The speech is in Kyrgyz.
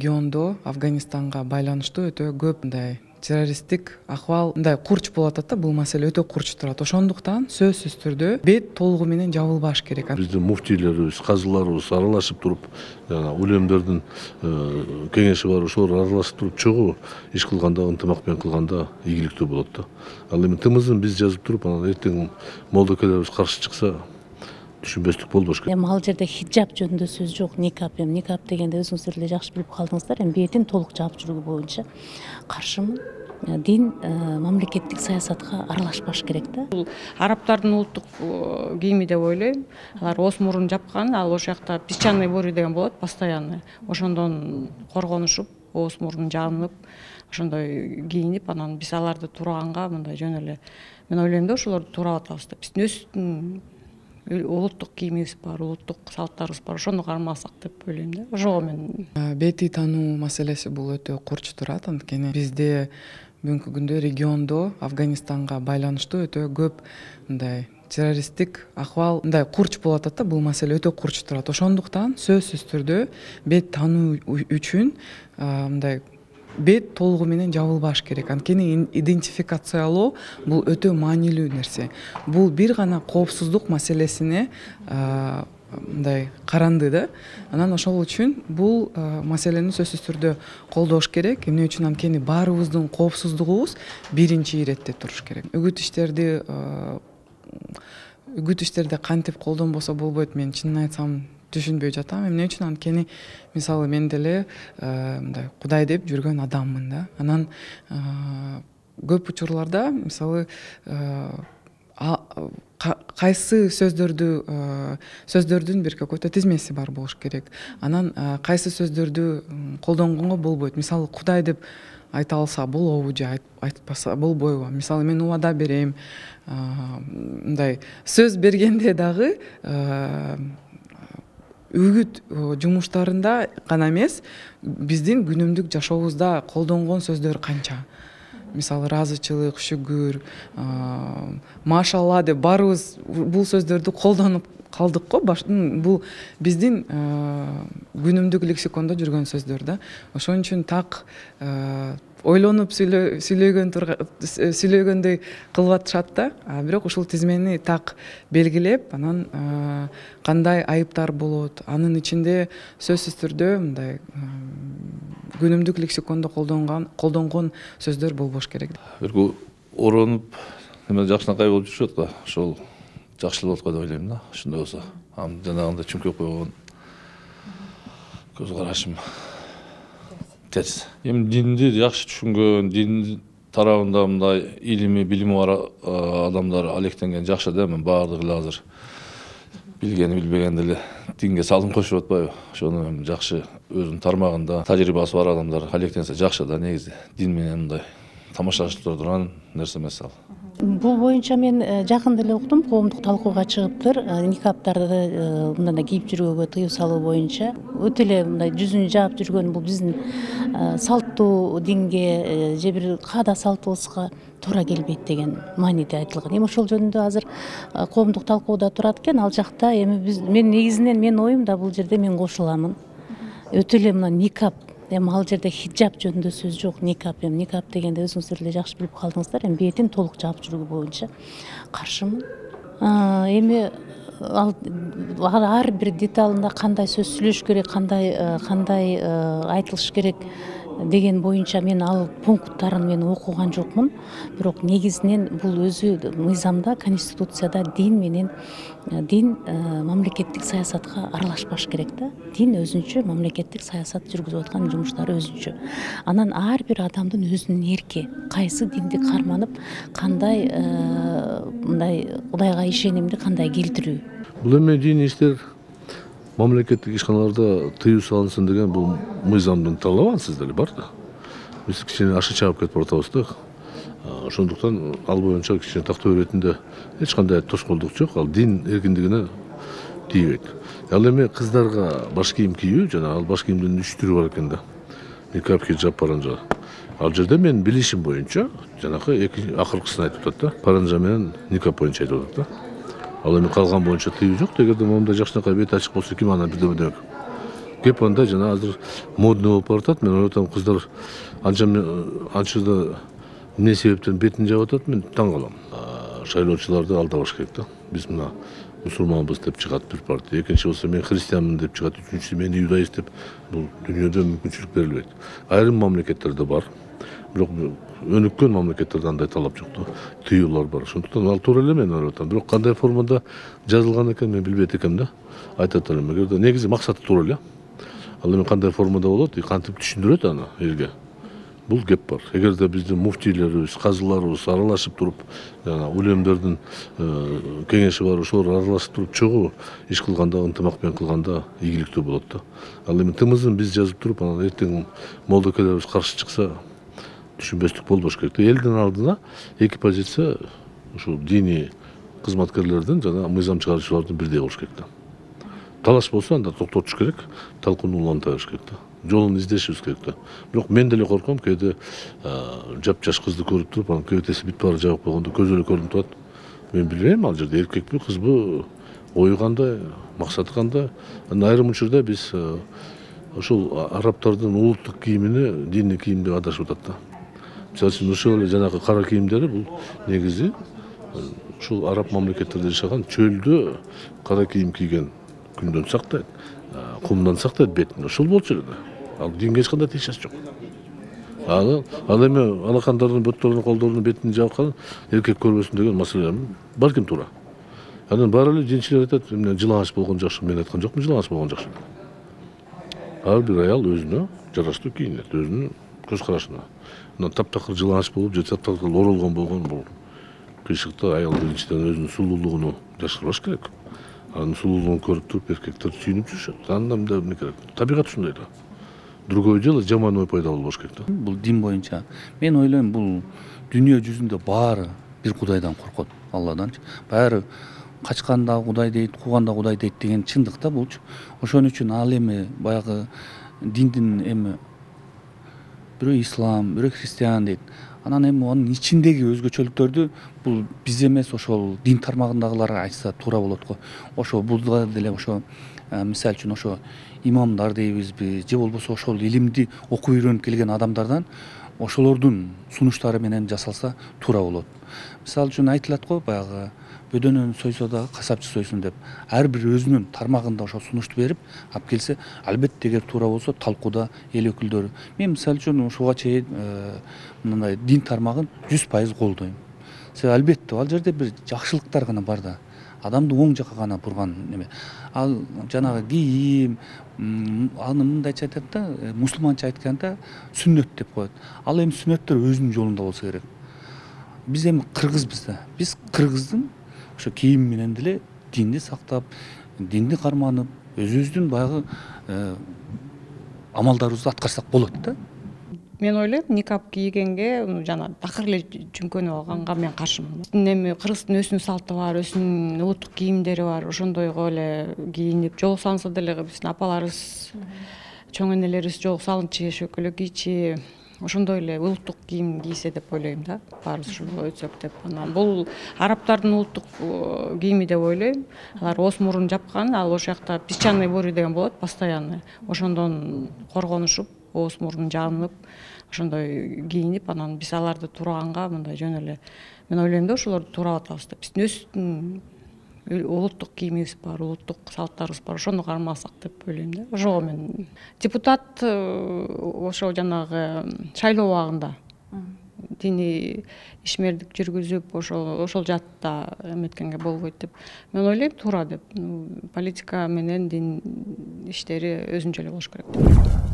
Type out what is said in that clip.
Региондо Афганистанга байланыштуу өтө көп мындай террористтик акыбал мындай курч болуп атат да, бул маселе өтө курч турат. Ошондуктан сөзсүз түрдө бет толугу менен жабылбаш керек. Биздин муфтийлерибиз, казыларыбыз аралашып туруп, улемдердин кеңеши бар, ошолор аралашып туруп чогуу иш кылганда, ынтымак менен кылганда ийгиликтүү болот да. Ал эми тымызын биз жазып туруп, анан эртең молдокелерибиз каршы чыкса, түшүнбөстүк болбош керек. Эми ал жерде хиджаб жөнүндө сөз жок, никап. Эми никап дегенде өзүңүздөр эле жакшы билип калдыңыздар. Эми бетин толук жаап жүрүү боюнча каршымын. Дин мамлекеттик саясатка аралашпаш керек да. Бул арабтардын улуттук кийими деп ойлойм. Алар оос мурун жапкан, ал ошол жакта песчаный бурь деген болот, постоянный. Ошондон коргонушуп, оос мурун жаанып, ошондой кийинип, анан биз аларды тураганга мындай жөн эле мен ойлойм да, ошолорду туурап атабыз да. Биздин өзүбүздүн улуттук кийимибиз бар, улуттук салттарыбыз бар. Ошону кармасак деп ойлойм да. Ошого мен Бети таануу маселеси бул өтө курч турат. Анткени бизде бүгүнкү күндө региондо Афганистанга байланыштуу өтө көп мындай террористтик акыбал мындай курч болуп атат да, бул маселе өтө курч турат. Ошондуктан сөзсүз түрдө бет таануу үчүн мындай бет толугу менен жабылбаш керек. Анткени идентификациялоо бул өтө маанилүү нерсе. Бул бир гана коопсуздук маселесине мындай каранды да. Анан ошол үчүн бул маселени сөзсүз түрдө колдош керек. Эмне үчүн? Анткени баарыбыздын коопсуздугубуз биринчи иретте туруш керек. Үгүт иштерде кантип колдонбосо болбойт, мен чынын айтсам түшүнбөй жатам. Эмне үчүн? Анткени мисалы мен деле мындай Кудай деп жүргөн адаммын да. Анан көп учурларда мисалы кайсы сөздөрдүн бир какой-то тизмеси бар болуш керек. Анан кайсы сөздөрдү колдонгонго болбойт. Мисалы Кудай деп айта алса болобу же айтпаса болбойбу? Мисалы мен убада берем, мындай сөз бергенде дагы үгүт жумуштарында гана эмес, биздин күнүмдүк жашообузда колдонгон сөздөр канча. Мисалы ыраазычылык, шүгүр, машалла деп баарыбыз бул сөздөрдү колдонуп калдык го. Бул биздин күнүмдүк лексикондо жүргөн сөздөр да. Ошон үчүн так ойлонуп сүйлөгөндөй кылып атышат да. Бирок ушул тизмени так белгилеп, анан кандай айыптар болот, анын ичинде сөзсүз түрдө мындай күнүмдүк лексикондо колдонгон сөздөр болбош керек. Бирку оронуп, неме жакшынакай болуп жүрүшөт го. Ошол жакшы болот го деп ойлойм да. Ошондой болсо, жанагындай чүмкөп койгон көз карашым терс. Эми динди жакшы түшүнгөн, дин тарабында мындай илими, билими бар адамдар алектенген жакшы да. Мен баардыгы эле азыр билгени билбегенди эле динге салым кошуп атпайбы? Ошону жакшы өзүнүн тармагында тажрыйбасы бар адамдар алектенсе жакшы да. Негизи дин менен мындай тамашалашып турган нерсе эмес ал. Бул боюнча мен жакында эле уктум, коомдук талкууга чыгыптыр. Никаптарды мындай кийип жүрүүгө тыюу салуу боюнча өтө эле мындай жүзүн жаап жүргөн бул биздин салттуу динге же бир каада салтыбызга туура келбейт деген мааниде айтылган. Эми ошол жөнүндө азыр коомдук талкууда турат экен. Ал жакта эми мен негизинен менин оюм да бул жерде мен кошуламын. Өтө эле мына никап. Эми ал жерде хиджаб жөнүндө сөз жок, никап. Эми никап дегенде өзүңүздөр эле жакшы билип калдыңыздар. Эми бетин толук жаап жүрүү боюнча каршымын. Эми ар бир деталында кандай сөз сүйлөш керек, кандай айтылыш керек деген боюнча мен ал пункттарын мен окуган жокмун. Бирок негизинен бул өзү мыйзамда, конституцияда дин мамлекеттик саясатка аралашпаш керек да. Дин өзүнчө мамлекеттик саясат жүргүзүп аткан жумуштары өзүнчө. Анан ар бир адамдын өзүнүн эрки, кайсы динди карманып, кандай мындай Кудайга ишенимди кандай келтирүү. Бул эми диний иштер мамлекеттик ишканаларда тыюу салынсын деген бул мыйзамдын талабы ансыз эле бар да. Биз кичине ашы чаап кетип атабыз да. Ошондуктан ал боюнча кичине тактоо иретинде эч кандай тоскоолдук жок. Ал дин эркиндигине тийбейт. Ал эми кыздарга баш кийим кийүү, жана ал баш кийимдин 3 түрү бар экен да. Никап, хиджаб, паранжа. Ал жерде мен билишим боюнча жанакы акыркысын айтып атат да. Паранжа менен никап боюнча айтып атат да. Ал эми калган боюнча тыюу жок. Эгерде момундай жакшынакай бет ачык болсо ким анан бирдеме демек кеп андай жана азыр модный болуп баратат. Мен ойлоп атам, кыздар анча да эмне себептен бетин жаап атат, мен таң калам. Шайлоочуларды алдабаш керек да. Биз мына мусулманбыз деп чыгат бир партия, экинчи болсо мен христианмын деп чыгат, үчүнчүсү мен иудаист деп. Бул дүйнөдө мүмкүнчүлүк берилбейт. Айрым мамлекеттерде бар, бирок өнүккөн мамлекеттерде андай талап жок да, тыюулар бар. Ошондуктан ал туура эле мен ойлоп атам. Бирок кандай формада жазылган экен мен билбейт экенмин да. Айтат элем, эгерде негизи максаты туура эле. Ал эми кандай формада болот, кантип түшүндүрөт аны элге. Бул кеп бар. Эгерде биздин муфтийлерибиз, казыларыбыз аралашып туруп, жана улемдердин кеңеши бар, ошолор аралашып туруп чогуу иш кылганда, ынтымак менен кылганда ийгиликтүү болот да. Ал эми тымызын биз жазып туруп, анан эртең молдокелерибиз каршы чыкса, түшүнбөстүк болбош керек да. Элдин алдына эки позиция ушул диний кызматкерлердин жана мыйзам чыгаруучулардын бирдей болуш керек да. Талаш болсо анда токтотуш керек, талкууну уланта бериш керек да. Жолун издешибиз керек да. Бирок мен деле корком, кээде жапжаш кызды көрүп туруп, анан кебетеси бүт баары жабык болгондо көзү эле көрүнүп турат. Мен билбейм ал жерде эркекпи, кызбы, ою кандай, максаты кандай. Айрым учурда биз ошол арабтардын улуттук кийимини диний кийим деп адашып атат да. Мисалы үчүн ошол эле жанагы кара кийимдери бул негизи ушул араб мамлекеттерде жашаган чөлдө кара кийим кийген күндөн сактайт, кумдан сактайт бетин. Ошол болчу эле да. Ал динге эч кандай тиешеси жок. Ал эми алакандардын бөттөрүнүн, колдорунун бетин жабыккан эркек көрбөсүн деген маселе балким туура. Анан баары эле динчилер айтат, эмне жылаңач болгон жакшы. Мен айткан жокмун жылаңач болгон жакшы. Ар бир аял өзүнө жараштуу кийинет, өзүнүн көз карашына. Мына таптакыр жылаңач болуп, же таптакыр оролгон болгон бул кыйшыкта аял биринчиден өзүнүн сулуулугун жашырбаш керек. Анын сулуулугун көрүп туруп эркектер сүйүнүп жүрүшөт. Андан да эмне керек? Табигат ушундай да. Другой дело жаман ой пайда болбош керек да. Бул дин боюнча мен ойлойм, бул дүйнө жүзүндө баары бир Кудайдан коркот, Алладанчы. Баары качканда Кудай дейт, кууганда Кудай дейт деген чындык да булчу. Ошон үчүн ал эми баягы диндин эми бирөө ислам, бирөө христиан дейт. Анан эми анын ичиндеги өзгөчөлүктөрдү бул биз эмес, ошол дин тармагындагылар айтса туура болот го. Ошо буда деле ошо мисалы үчүн ошо имамдар дейбизби, же болбосо ошол илимди окуп үйрөнүп келген адамдардан ошолордун сунуштары менен жасалса туура болот. Мисалы үчүн айтылат го, баягы бөдөнөн сойсо да касапчы сойсун деп. Ар бир өзүнүн тармагында ошо сунушту берип алып келсе, албетте эгер туура болсо талкууда эл өкүлдөрү. Мен мисалы үчүн ушуга чейин мындай дин тармагын 100% колдойм. Себеби албетте ал жерде бир жакшылыктар гана бар да. Адамды оң жакка гана бурган неме. Ал жанагы кийим, аны мындайча айтат да, мусулманча айтканда сүннөт деп коет. Ал эми сүннөттөр өзүнүн жолунда болсо керек. Биз эми кыргызбыз да. Биз кыргыздын ошо кийим менен деле динди сактап, динди карманып, өзүбүздүн баягы амалдарыбызды аткарсак болот да. Мен ойлойм, никап кийгенге жана такыр эле жүмкөнүп алганга мен каршымын. Эми кыргыздын өзүнүн салты бар, өзүнүн улуттук кийимдери бар. Ошондойго эле кийинип, жол салынса деле биздин апаларыбыз, чоң энелерибиз жол салынчы, шөкөлө кийчи, ошондой эле улуттук кийим кийсе деп ойлойм да. Баарыбыз ошого өтсөк деп. Анан бул арабтардын улуттук кийими деп ойлойм. Алар ооз мурун жапкан, ал ошол жакта песчаный бурь деген болот, постоянный. Ошондон коргонушуп, ооз мурун жаанып, ошондой кийинип, анан биз аларды тураганга мындай жөн эле мен ойлойм да, ошолорду туурабатабыз да. Биздин өзүбүздүн улуттук кийимибиз бар, улуттук салттарыбыз бар, ошону кармасак деп ойлойм да. Ошого мен депутат ошо жанагы шайлоо убагында диний ишмердик жүргүзүп, ошол жаатта эметкенге болбойт деп мен ойлойм, туура деп. Политика менен дин иштери өзүнчө эле болуш керек деп.